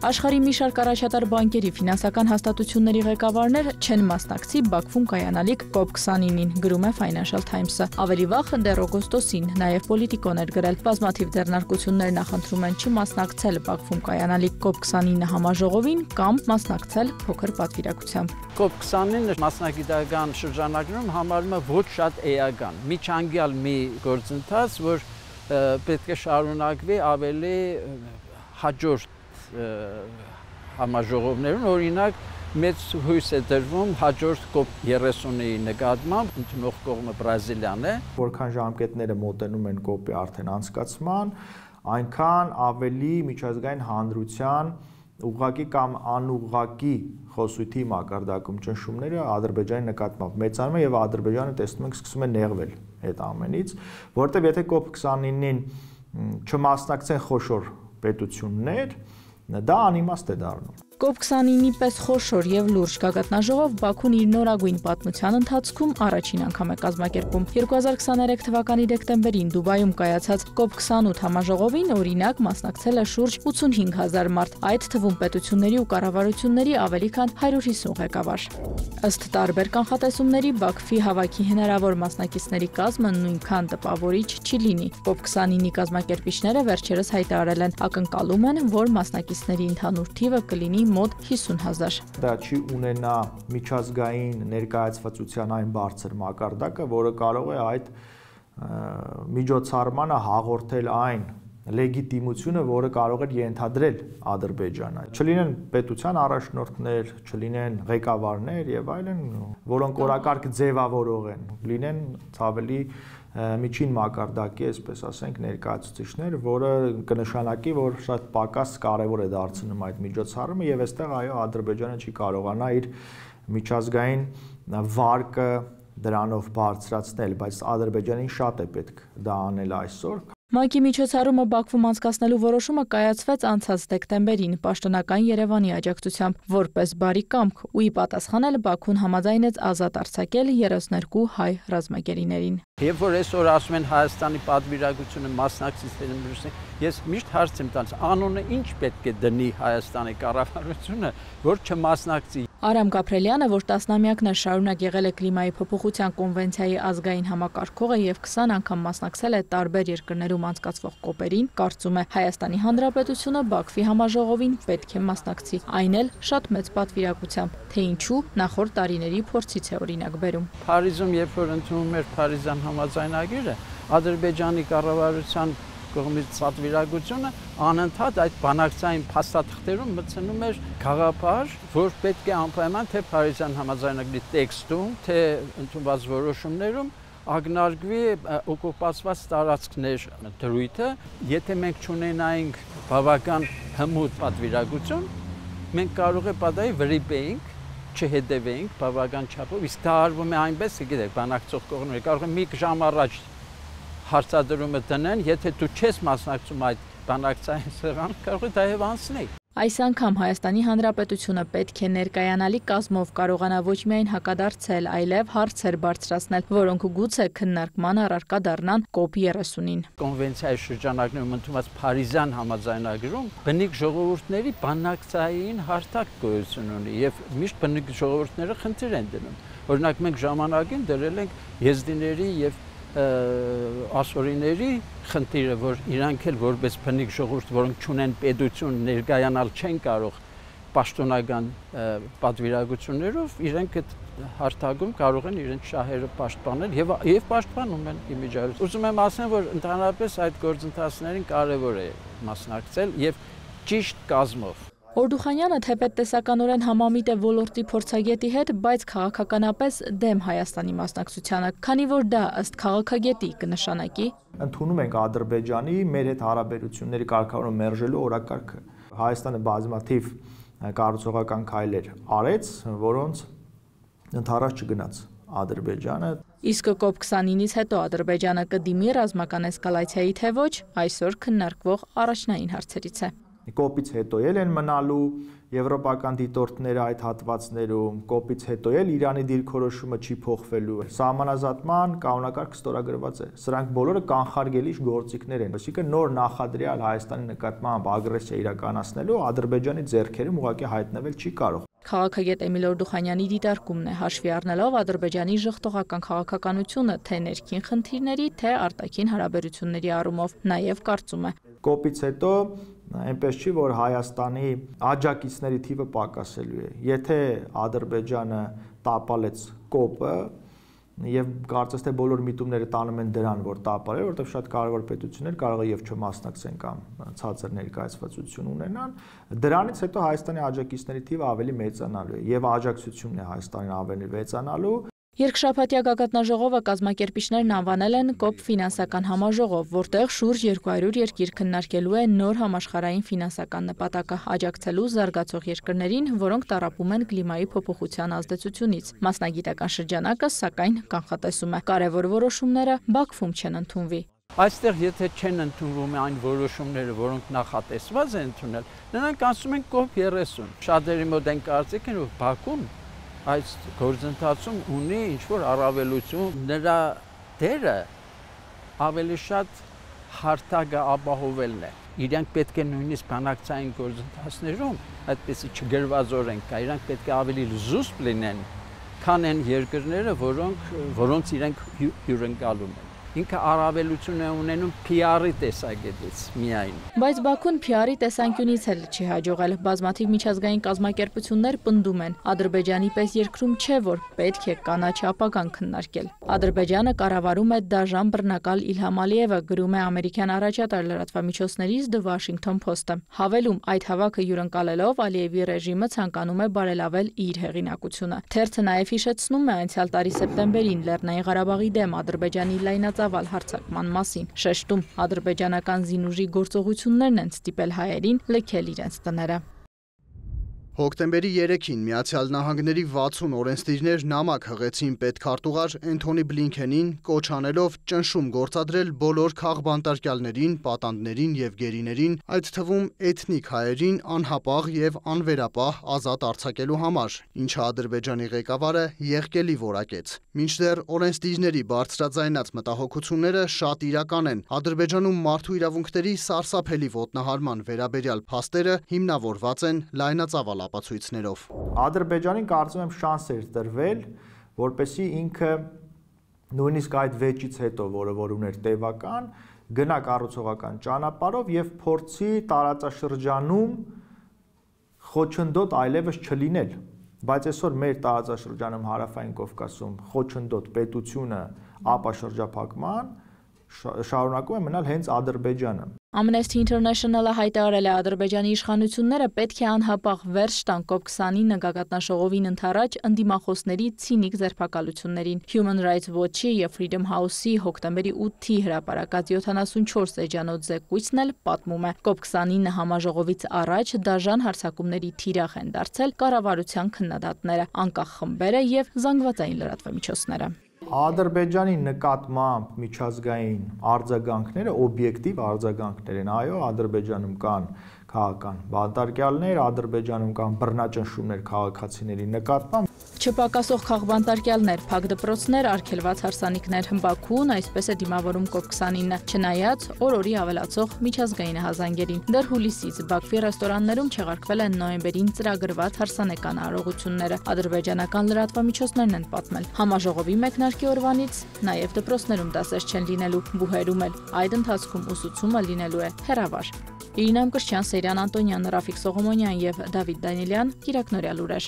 Աշխարհի մի շարք առաջատար բանկերի ֆինանսական հաստատությունների ղեկավարներ չեն մասնակցի Բաքվում կայանալիք COP29-ին, գրում է Financial Times-ը։ Ավելի վաղ դեռ օգոստոսին նաև Politico-ն էր գրել, բազմաթիվ ձեռնարկություններ նախընտրում են չմասնակցել Բաքվում կայանալիք COP29 համաժողովին կամ մասնակցել փոքր պատվիրակությամբ։ COP29-ը մասնագիտական շրջանակներում համարվում է ոչ շատ էական, միջանկյալ մի գործընթաց, որ պետք է շարունակվի ավելի հաջորդ համաժողովներում, օրինակ մեծ հույս է դրվում հաջորդ COP30-ի նկատմամբ, ընդունող կողմը Բրազիլիան է։ Որքան ժամկետները մոտենում են COP-ի արդեն անցկացման, այնքան ավելի միջազգային հանրության ուղղակի կամ անուղղակի խոսույթի մակարդակում ճնշումները Ադրբեջանի նկատմամբ մեծանում են եւ Ադրբեջանը տեսնում ենք սկսում է նեղվել այդ ամենից, որտեղ եթե COP29-ին չմասնակցեն խոշոր պետություններ, դա անիմաստ է դառնում։ COP29-ի պես խոշոր եւ լուրջ գագաթնաժողով Բաքուն իր նորագույն պատմության ընթացքում առաջին անգամ է կազմակերպում։ 2023 թվականի դեկտեմբերին Դուբայում կայացած COP28 համաժողովին օրինակ մասնակցել է շուրջ 85,000 մարդ, այդ թվում պետությունների ու կառավարությունների ավելի քան 150 ղեկավար։ Ըստ տարբեր կանխատեսումների Բաքվի հավաքի հնարավոր մասնակիցների կազմը նույնքան տպավորիչ չի լինի։ COP29-ի կազմակերպիչները վերջերս հայտարարել են, ակնկալում են, որ մասնակիցների ընդհանուր թիվը կլինի մոտ 50,000։ Դա չի ունենա միջազգային ներկայացվածության այն բարձր մակարդակը, որը կարող է այդ միջոցառմանը հաղորդել այն լեգիտիմությունը, որը կարող էր ենթադրել Ադրբեջանը։ Չլինեն պետության առաջնորդներ, չլինեն ղեկավարներ եւ այլն, որոնք օրակարգ ձևավորող են, լինեն ավելի միջին մակարդակի, այսպես ասենք, ներկայացուցիչներ, որը կնշանակի, որ շատ պակաս կարևոր է դարձնում այդ միջոցառումը եւ այստեղ այո Ադրբեջանը չի կարողանա իր միջազգային վարկը դրանով բարձրացնել, բայց Ադրբեջանին շատ է պետք դա անել այսօր։ ՄԱԿ-ի միջոցառումը Բաքվում անցկացնելու որոշումը կայացվեց անցած դեկտեմբերին պաշտոնական Երևանի աջակցությամբ, որպես բարի կամք, ու ի պատասխանել Բաքուն համաձայնեց ազատ արձակել 32 հայ ռազմագերիներին։ Երբ որ այսօր ասում են Հայաստանի պատվիրակությունը մասնակցիչներին, ես միշտ հարց եմ տալիս, անունը ինչ պետք է դնի Հայաստանի կառավարությունը, որ չմասնակցի։ Արամ Գաբրելյանը, որ տասնամյակներ շարունակ եղել է կլիմայի փոփոխության կոնվենցիայի ազգային համակարգողը եւ 20 անգամ մասնակցել է տարբեր երկրներում անցկացվող կոպերին, կարծում է Հայաստանի Հանրապետությունը Բաքվի համաժողովին պետք է մասնակցի, այն էլ շատ մեծ պատվիրակությամբ, թե ինչու նախորդ տարիների փորձից է օրինակ բերում։ Փարիզում երբ որ ընդունում էր Փարիզյան համաձայնագիրը, Ադրբեջանի կառավարության կողմից պատվիրակությունը անընդհատ այդ բանակցային փաստաթղթերում մտցնում էր գաղափար, որ պետք է անպայման թե Փարիզյան համաձայնագրի տեքստում, թե ընդունված որոշումներում ակնարկվի օկուպացված տարածքներ դրույթը, եթե մենք չունենայինք բավական հմուտ պատվիրակություն, մենք կարող է պատահի վրիպեինք, չհետևեինք բավական չափով, իսկ դա արվում է այնպես, գիտեք, բանակցող կողմերը կարող է մի ժամ առաջ հարցադրումը դնեն, եթե դու չես մասնակցում այդ բանակցային սեղան, կարող է դա եւ անցնի։ Այս անգամ Հայաստանի Հանրապետությունը պետք է ներկայանալի կազմով կարողանա ոչ միայն հակադարձել, այլև հարցեր բարձրացնել, որոնք գուցե քննարկման առարկա դառնան COP30-ին։ Կոնվենցիայի շրջանակներում ընդունված Փարիզյան համաձայնագրում բնիկ ժողովուրդների բանակցային հարթակ գոյություն ունի եւ միշտ բնիկ ժողովուրդները խնդիր են դնում։ Օրինակ մենք ժամանակին դրել ենք եզդիների եւ ասորիների խնդիրը, որ իրանք էլ որպես բնիկ ժողովուրդ, որոնք չունեն պետություն, ներկայանալ չեն կարող պաշտոնական պատվիրակություններով, իրենք այդ հարթակում կարող են իրենց շահերը պաշտպանել եւ պաշտպանում են իմիջիայլոց։ Ուզում եմ ասեմ, որ ընդհանրապես այդ գործընթացներին կարեւոր է մասնակցել եւ ճիշտ կազմով։ Օրդուխանյանը թեպետ տեսականորեն համամիտ է ոլորտի փորձագետի հետ, բայց քաղաքականապես դեմ Հայաստանի մասնակցությանը, քանի որ դա ըստ քաղաքագետի կնշանակի ընդունում ենք Ադրբեջանի մեր հետ հարաբերությունների կարգավորումը մերժելու օրակարգը։ Հայաստանը բազմաթիվ կառուցողական քայլեր արեց, որոնց ընդառաջ չգնաց Ադրբեջանը։ Իսկ COP29-ից հետո Ադրբեջանը կդիմի ռազմական էսկալացիայի թե ոչ, այսօր քննարկվող առաջնային հարցերից է։ կոպից հետո են մնալու եվրոպական դիտորդները այդ հատվածներում, կոպից հետո Իրանի դիրքորոշումը չի փոխվելու։ Սահմանազատման կանոնակարգը ստորագրված է։ Սրանք բոլորը կանխարգելիչ գործիքներ են, այսինքն նոր նախադրյալ Հայաստանի նկատմամբ ագրեսիա իրականացնելու Ադրբեջանի ձեռքերում ուղղակի հայտնվել չի կարող։ Քաղաքագետ Էմիլ Օրդուխանյանի դիտարկումն է, հաշվի առնելով Ադրբեջանի ժխտողական քաղաքականությունը թե ներքին խնդիրների, թե արտաքին հարաբերությունների առումով, նաև կարծում է. Կոպից հետո այնպես չի, որ Հայաստանի աջակիցների թիվը պակասելու է։ Եթե Ադրբեջանը տապալեց կոպը, եւ կարծես թե բոլոր միտումները տանում են դրան, որ տապալել, որովհետեւ շատ կարևոր պետություններ կարող է եւ չմասնակցեն կամ ցածր ներկայացվածություն ունենան, դրանից հետո Հայաստանի աջակիցների թիվը ավելի մեծանալու է եւ աջակցությունն է Հայաստանին ավելի մեծանալու։ Երկշաբաթյա գագաթնաժողովը կազմակերպիչներն անվանել են կոպ ֆինանսական համաժողով, որտեղ շուրջ 200 երկիր քննարկելու է նոր համաշխարհային ֆինանսական նպատակը աջակցելու զարգացող երկրներին, որոնք տառապում են կլիմայի փոփոխության ազդեցությունից։ Մասնագիտական շրջանակը, սակայն, կանխատեսում է, կարևոր որոշումները Բաքվում չեն ընդունվի։ Այստեղ եթե չեն ընդունվում այն որոշումները, որոնք նախատեսված են ընդունել, նրանք ասում են կոպ 30։ Շատերի մոտ այն կարծիք են, որ Բաքուն այս գործընթացում ունի ինչ-որ առավելություն, նրա դերը ավելի շատ հարթակը ապահովելն է։ Իրանք պետք է նույնիսկ բանակցային գործընթացներում այդպեսի չգրվածորեն կա, իրանք պետք է ավելի զուսպ լինեն, քան այն երկրները, որոնց իրենք հյուրընկալում են։ Ինքը առավելություն է ունենում PR-ի տեսակետից միայն։ Բայց Բաքուն PR-ի տեսանկյունից էլ չի հաջողել։ Բազմաթիվ միջազգային կազմակերպություններ պնդում են, Ադրբեջանի պես երկրում չէ, որ պետք է կանաչ ապագան քննարկել։ Ադրբեջանը կառավարում է դաժան բռնակալ Իլհամ Ալիևը, գրում է ամերիկյան առաջատար լրատվամիջոցներից The Washington Post-ը։ Հավելում, այդ հավաքը հյուրընկալելով Ալիևի ռեժիմը ցանկանում է բարելավել իր հեղինակությունը։ Թերթը նաև հիշեցնում է անցյալ տարի սեպտեմբերին Լեռնային Ղարաբաղի դեմ Ադրբեջանի լայնածավալ հարձակման մասին, շեշտում ադրբեջանական զինուժի գործողություններն են ստիպել հայերին լքել իրենց տները։ Հոկտեմբերի 3-ին Միացյալ Նահանգների 60 օրենսդիրներ նամակ հղեցին պետքարտուղար Էնթոնի Բլինքենին, կոչ անելով ճնշում գործադրել բոլոր քաղբանտարկյալներին, պատանդներին եւ գերիներին, այդ թվում էթնիկ հայերին անհապաղ եւ անվերապահ ազատ արձակելու համար, ինչը Ադրբեջանի ղեկավարը եղկելի որակեց։ Մինչդեռ օրենսդիրների բարձրաձայնած մտահոգությունները շատ իրական են։ Ադրբեջանում մարդու իրավունքների սարսափելի ոտնահարման վերաբերյալ փաստերը հիմնավորված են լայնածավալ ապացույցներով։ Ադրբեջանին կարծում եմ շանս էր տրվել, որպեսզի ինքը նույնիսկ այդ վեճից հետո, որ ուներ տևական, գնա կառուցողական ճանապարհով եւ փորձի տարածաշրջանում խոչընդոտ այլևս չլինել։ Բայց այսօր մեր տարածաշրջանում Հարավային Կովկասում խոչընդոտ պետությունը ապաշրջափակման շարունակում է մնալ հենց Ադրբեջանը։ Amnesty International-ը հայտարարել է Ադրբեջանի իշխանությունները պետք է անհապաղ վերջ տան COP29 գագաթնաժողովին ընդառաջ ընդդիմախոսների ցինիկ ձերբակալություններին։ Human Rights Watch-ի եւ Freedom House-ի հոկտեմբերի 8-ի հրապարակած 74 էջանոց զեկույցն էլ պատմում է. COP29 համաժողովից առաջ դաժան հարձակումների թիրախ են դարձել կառավարության քննադատները, անկախ խմբերը եւ զանգվածային լրատվամիջոցները։ Ադրբեջանի նկատմամբ միջազգային արձագանքները օբյեկտիվ արձագանքներ են։ Այո, Ադրբեջանում կան քաղաքական բանտարկյալներ, Ադրբեջանում կան բռնաճնշումներ քաղաքացիների նկատմամբ։ Չպակասող քաղբանտարկյալներ, փակ դպրոցներ, արգելված հարսանիքներ, Բաքուն այսպես է դիմավորում COP29, չնայած օր-օրի ավելացող միջազգային հազանգերին։ Դեռ հուլիսից Բաքվի ռեստորաններում չեղարկվել են նոյեմբերին ծրագրված հարսանեկան արարողությունները։ Ադրբեջանական լրատվամիջոցներն են պատմել։ Համաժողովի մեկնարկի օրվանից նաև դպրոցներում դասեր չեն լինելու, բուհերում էլ։ Այդ ընթացքում ուսուցումը լինելու է հեռավար։ Իրինա Մկրտչյան, Սերյան Անտոնյան, Ռաֆիկ Սողոմոնյան եւ Դավիթ Դանիելյան, Կիրակնորյալ լուրեր։